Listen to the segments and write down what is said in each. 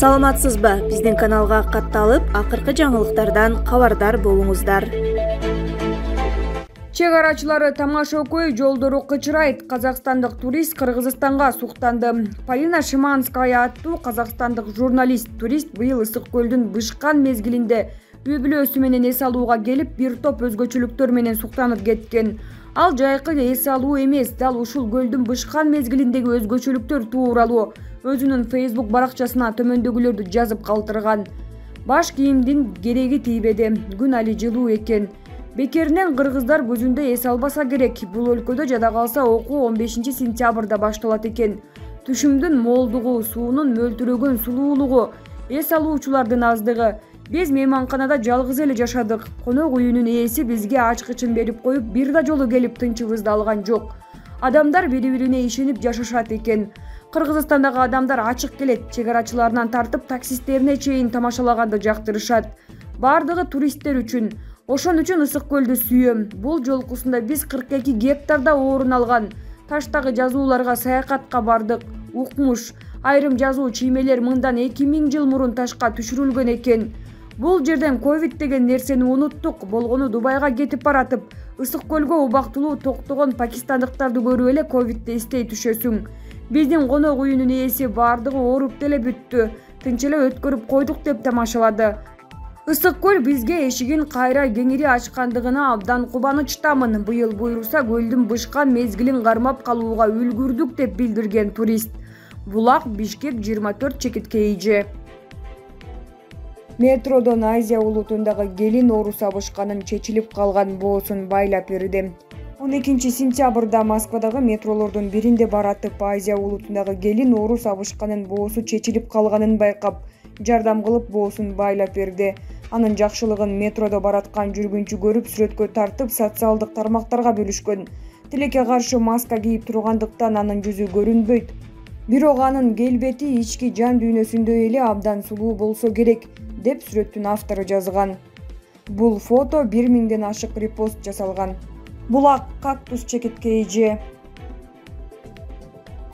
Саламатсызбы? Биздин каналга катталып, акыркы жаңылыктардан кабардар болуңуздар. Чек арачылары Тамаш-Окой жолдору кычырайт. Казакстандык турист Кыргызстанга суктанды. Полина Шиманская аттуу казакстандык журналист-турист быйыл Ысык көлдүн бышкан мезгилинде үй-бүлөсү менен эс алууга келип, бир топ өзгөчөлүктөр менен суктанып кеткен. Ал жайкы эс алуу эмес, дал ушул көлдүн бышкан мезгилиндеги өзгөчөлүктөр тууралуу өзүнүн Facebook баракчасына төмөндөгүлөрдү жазып калтырган. Баш кийимдин кереги тийбеди, күн али жылуу экен. Бекеринен кыргыздар көзүндө эс албаса керек. Бул өлкөдө жада калса окуу 15-сентябрда башталат экен. Түшүмдүн молдугу, суунун мөлтүрөгөн сулуулугу, эс алуучулардын аздыгы. Биз мейманканада жалгыз эле жашадык. Конок үйүнүн ээси бизге ачкычын берип коюп, бир да жолу келип тынчыбызды алган жок. Адамдар бири-бирине ишенип жашашат экен. Кыргызстандагы адамдар ачык келет. Чек арачыларынан тартып таксисттерине чейин тамашалаганды жактырышат. Бардыгы туристтер үчүн. Ошон үчүн Ысык көлдү сүйөм. Бул жолкусунда биз 42 гектарда орун алган таштагы жазууларга саякатка бардык. Укмуш. Айрым жазуу чиймелер мындан 2000 жыл мурун ташка түшүрүлгөн экен. Бул жерден ковид деген нерсени унуттук. Болгону Дубайга кетип баратып, Ысык көлгө убактылуу токтогон пакистандыктарды көрүп эле ковидти эстей түшөсүң. Биздин конок үйүнүн ээси бардыгы ооруп деле бүттү. Тынч эле өткөрүп койдук деп тамашалады. Ысык көл бизге эшигин кайра кеңири ачкандыгына абдан кубанычтамын. Быйыл буйруса көлдүн бышкан мезгилин кармап калууга үлгүрдүк деп билдирген турист. Булак, Бишкек 24 чекиткейи. Метродон Азия улутундагы келин оору сабышканын чечилип калган боосун байлап берди. 12-сентябрда Москвадагы метролордун биринде баратып, Азия улутундагы келин оору сабышканын боосу чечилип калганын байкап, жардам кылып боосун байлап берди. Анын жакшылыгын метродо бараткан жүргүнчү көрүп, сүрөткө тартып, социалдык тармактарга бөлүшкөн. Тилекке каршы маска кийип тургандыктан анын жүзү көрүнбөйт. Бирок анын келбети ички жан дүйнөсүндөй эле абдан сулуу болсо керек, деп сүрөттүн автору жазган. Бул фото 1000ден ашык репост жасалган. Булак кактус чекиткейи.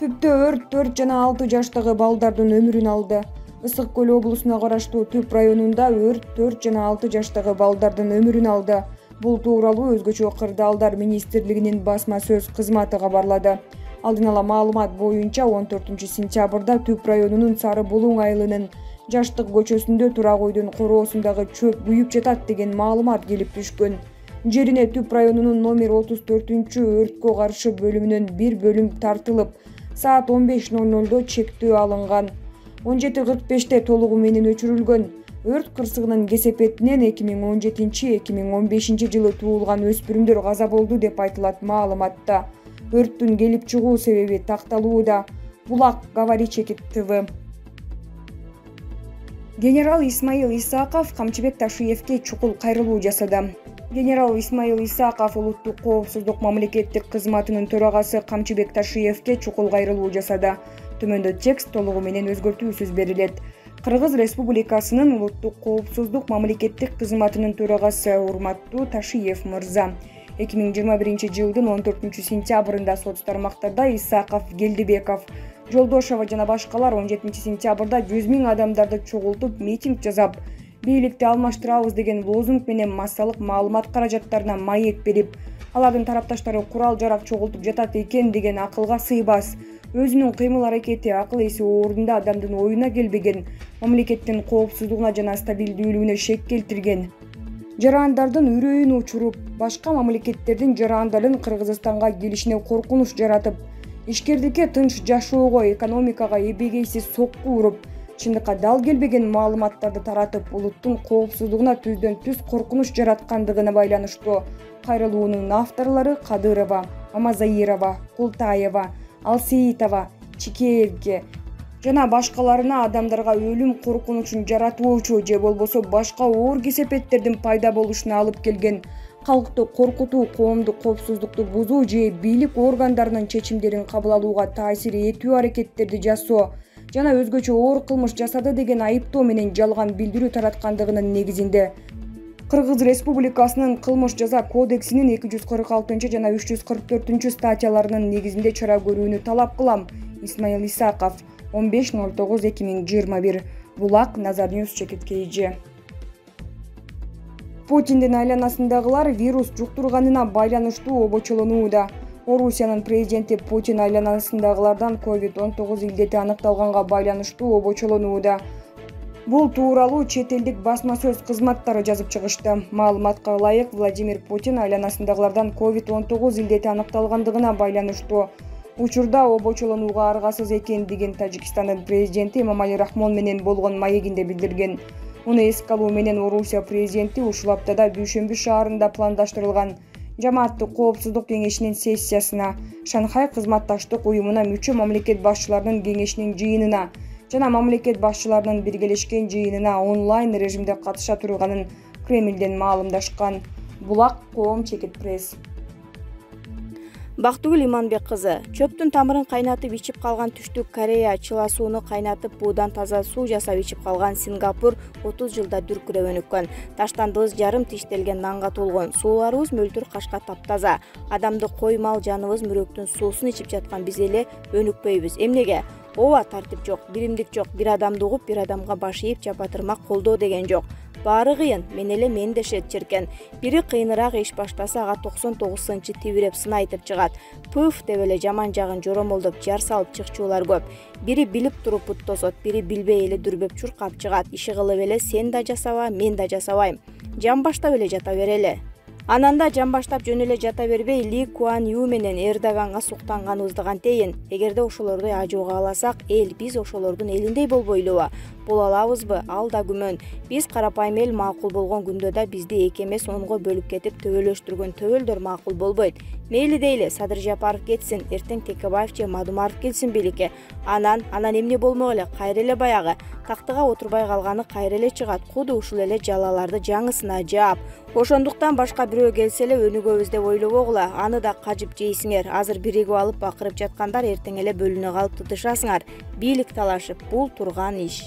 Түптө өрт 4 жана 6 жаштагы балдардын өмүрүн алды. Ысык көл облусуна караштуу Түп районунда өрт 4 жана 6 жаштагы балдардын өмүрүн алды. Бул тууралуу Өзгөчө кырдаалдар министрлигинин басма сөз кызматы кабарлады. Алдын ала маалымат боюнча 14-сентябрда Түп районунун Сары Булуң айылынын Жаштык көчөсүндө турак үйдүн короосундагы чөп күйүп жатат деген маалымат келип түшкөн. Жерине Түп районунун номер 34-өрткө каршы бөлүмүнөн бир бөлүм тартылып, саат 15:00 чектөө алынган. 17:45 толугу менен өчүрүлгөн. Өрт кырсыгынын кесепетинен 2017-2015 жылы туулган өспүрүмдөр каза болду деп айтылат маалыматта. Өрттүн келип чыгуу себеби такталууда. Булак Говори Чекит ТВ. Генерал Исмаил Исаков Камчыбек Ташиевке чукул кайрылуу жасады. Генерал Исмаил Исаков улуттук коопсуздук мамлекеттик кызматынын төрагасы Камчыбек Ташиевке чукул кайрылуу жасады. Төмөндө текст толугу менен өзгөртүүсүз берилет. Кыргыз Республикасынын улуттук коопсуздук мамлекеттик кызматынын төрагасы урматтуу Ташиев мырза. 2021 жылдын 14-сентябрында соц тармактарда Исаков, Келдибеков, Жолдошова жана башкалар 17-сентябрда 100 000 адамдарды чогултуп митинг жасап, бийликти алмаштырабыз деген лозунг менен массалык маалымат каражаттарына маек берип, алардын тарапташтары курал-жарак чогултуп жатат экен деген акылга сыйбас. Өзүнүн кыймыл-аракети, акыл-эси ордунда адамдын оюна келбеген, мамлекеттин коопсуздугуна жана стабилдүүлүгүнө шек келтирген. Жарандардын үрөйүн учуруп, башка мамлекеттердин жарандарын Кыргызстанга келишине коркунуч жаратып, ишкердикке тынч жашоого, экономикага эбегейсиз сокку уруп, чындыкка дал келбеген маалыматтарды таратып, улуттун коопсуздугуна түздөн-түз коркунуч жараткандыгына байланыштуу кайрылуунун авторлору Кадырова, Мамазаирова, Култаева, Алсеитова, Чикеевге жана башкаларына адамдарга өлүм коркунучун жаратуучу же болбосо башка оор кесепеттердин пайда болушуна алып келген, калкты коркутуу, коомдук коопсуздукту бузуу же бийлик органдарынын чечимдерин кабыл алууга таасир этүү аракеттерди жасоо жана өзгөчө оор кылмыш жасады деген айыптоо менен жалган билдирүү тараткандыгынын негизинде Кыргыз Республикасынын кылмыш жаза кодексинин 246 жана 344 статьяларынын негизинде чара көрүүнү талап кылам. Исмаил Исаков 15.09.2021 Булак, Назар Ньюс чекит KG. Путиндин айланасындагылар вирус жуктурганына байланыштуу обочолонууда. Орусиянын президенти Путин айланасындагылардан COVID-19 илдети аныкталганга байланыштуу обочолонууда. Бул тууралуу чет элдик басма сөз кызматтары жазып чыгышты. Маалыматка ылайык, Владимир Путин айланасындагылардан COVID-19 илдети аныкталгандыгына байланыштуу учурда обочолонууга аргасыз экендигин Тажикстандын президенти Эмомали Рахмон менен болгон маегинде билдирген. Муну эске алуу менен Орусия президенти ушул аптада Дүйшөмбү шаарында пландаштырылган Жамааттык коопсуздук кеңешинин сессиясына, Шанхай кызматташтык уюмуна мүчө мамлекет башчыларынын кеңешинин жыйынына жана мамлекет башчыларынын биргелешкен жыйынына онлайн режимде катыша турганын Кремлден маалымдашкан. Булак, Коом чекит пресс. Бактыгүл Иманбек кызы чөптүн тамырын кайнатып ичип калган Түштүк Корея чыла сууну кайнатып буудан таза суу жасап ичип калган Сингапур 30 жылда дүркүрөп өнүккөн. Таштандыбыз жарым тиштелген нанга толгон. Сууларыбыз мөлтүр кашка таптаза. Адамды кой мал жаныбыз мүрөктүн суусун ичип жаткан биз эле өнүкпөйбүз. Эмнеге? Ооба, тартип жок, биримдик жок. Бир адамды угуп, бир адамга баш ийип чапатырмак колдоо деген жок. Баары кыйын, мен эле мен дешет черкен. Бири кыйыныраак иш баштаса ага 99-сынчы тибиреп сын айтып чыгат. Пыф деп эле жаман жагын жоромолдоп жар салып чыкчуулар көп. Бири билип туруп пут тосот, бири билбей эле дүрбөп чуркап чыгат. Иши кылып эле сен да жасаба, мен да жасабайм. Жан баштап эле жата берели. Анан да жан баштап жөн эле жата бербей Ли Куан Ю менен Эрдоганга суктанганыбызды кантейин. Эгерде ошолорду ажууга аласак, эл биз ошолордун элиндей болбойлубу? Боло алабызбы? Ал да күмөн. Биз карапайым эл макул болгон күндө да бизди 2 эмес 10го бөлүп кетип төбөлөштүргөн төбөлдөр макул болбойт. Мейли дейли, Садыр Жапаров кетсин, эртең Текебаев же Мадумаров келсин бийликке. Анан эмне болмок эле, кайра эле баягы. Тактыга отурбай калганы кайра эле чыгат. Куду ушул эле жалаларды жаңысына жаап. Ошондуктан башка бирөө келсе эле өнүгөбүз деп ойлобогула. Аны да кажып жейсиңер. Азыр биригип алып бакырып жаткандар эртең эле бөлүнө калып тутушасыңар. Бийлик талашып, бул турган иш.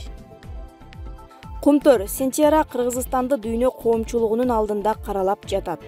Кумтөр Сентера Кыргызстанды дүйнө коомчулугунун алдында каралап жатат.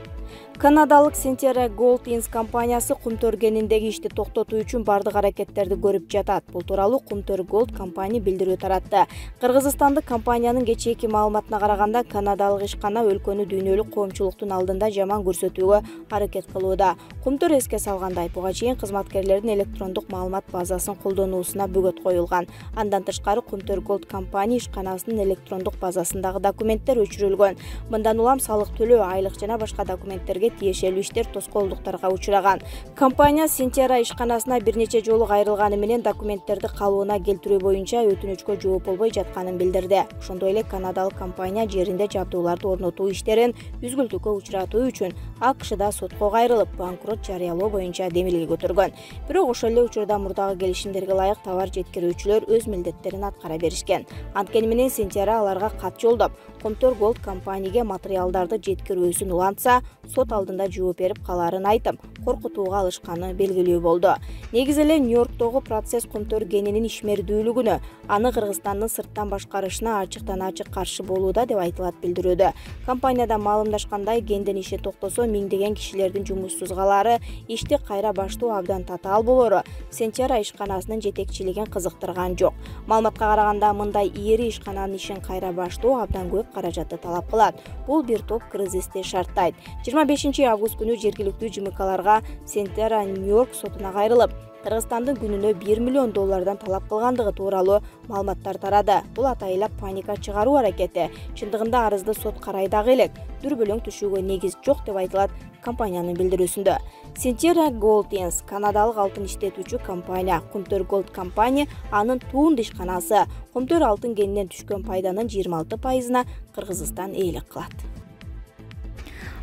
Канадалык Сентера Gold Inc компаниясы Кумтөр кениндеги ишти токтотуу үчүн бардык аракеттерди көрүп жатат. Бул тууралуу Кумтөр Gold компания билдирүү таратты. Кыргызстандык компаниянын кечээки маалыматына караганда, канадалык ишкана өлкөнү дүйнөлүк коомчулуктун алдында жаман көрсөтүүгө аракет кылууда. Кумтөр эске салгандай, буга чейин кызматкерлердин электрондук маалымат базасын колдонуусуна бөгөт коюлган. Андан тышкары Кумтөр Gold компания ишканасынын электрондук базасындагы документтер өчүрүлгөн. Мындан улам салык төлөө, айлык жана башка документтерге тиешелүү иштер тоскоолдуктарга учураган. Компания Сентера ишканасына бир нече жолу кайрылганы менен документтерди калыбына келтирүү боюнча өтүнүчкө жооп болбой жатканын билдирди. Ошондой эле канадалык компания жеринде жабдууларды орнотуу иштерин үзгүлтүккө учуратуу үчүн АКШда сотко кайрылып, банкрот жарыялоо боюнча демилге көтөргөн. Бирок ошол эле учурда мурдагы келишимдерге ылайык товар жеткирүүчүлөр өз милдеттерин аткара беришкен. Анткени менен Сентера аларга кат жолдоп, Кумтөр Gold компанияга материалдарды жеткирүүсүн улантса, сот алдында жооп берип каларын айтып, коркутууга алышканы белгилүү болду. Негизи эле Нью-Йорктогу процесс Кумтөр кенинин ишмердүүлүгүнө, аны Кыргызстандын сырттан башкарышына ачык каршы болууда деп айтылат билдирүүдө. Компанияда маалымдашкандай, кендин иши токтосо миңдеген кишилердин жумуссуз калаары, ишти кайра баштоо абдан татаал болору Сентера ишканасынын жетекчилигин кызыктырган жок. Маалыматка караганда, мындай ири ишкананын ишин кайра баштоо абдан көп каражатты талап кылат. Бул бир топ кризисти шарттайт. 25 август күнү жергиликтүү ЖМКларга Сентера Нью-Йорк сотуна кайрылып, Кыргызстандын күнүнө $1 миллион талап кылгандыгы тууралуу маалыматтар тарады. Бул атайылап паника чыгаруу аракети. Чындыгында арызды сот карай дагы элек. Дүрбөлөң түшүүгө негиз жок деп айтылат компаниянын билдирүүсүндө. Сентера Gold Inc канадалык алтын иштетүүчү компания. Кумтөр Gold компания анын туунду ишканасы. Кумтөр алтын кенинен түшкөн пайданын 26%-ына Кыргызстан ээлик кылат.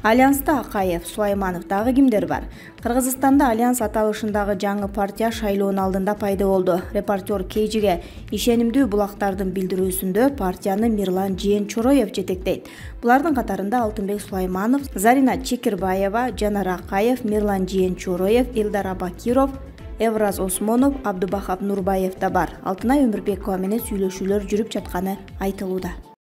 Альянста Акаев, Сулайманов дагы кимдер бар? Кыргызстанда Альянс аталышындагы жаңы партия шайлоонун алдында пайда болду. Репортер KG'ге ишенимдүү булактардын билдирүүсүндө партияны Мирлан Жээн-Чороев жетектейт. Булардын катарында Алтынбек Сулайманов, Зарина Чекирбаева, Жанар Акаев, Мирлан Жээн-Чороев, Илдар Абакиров, Эвраз Осмонов, Абдубахап Нурбаев да бар. Алтынай Өмүрбекова менен сүйлөшүүлөр жүрүп жатканы айтылууда.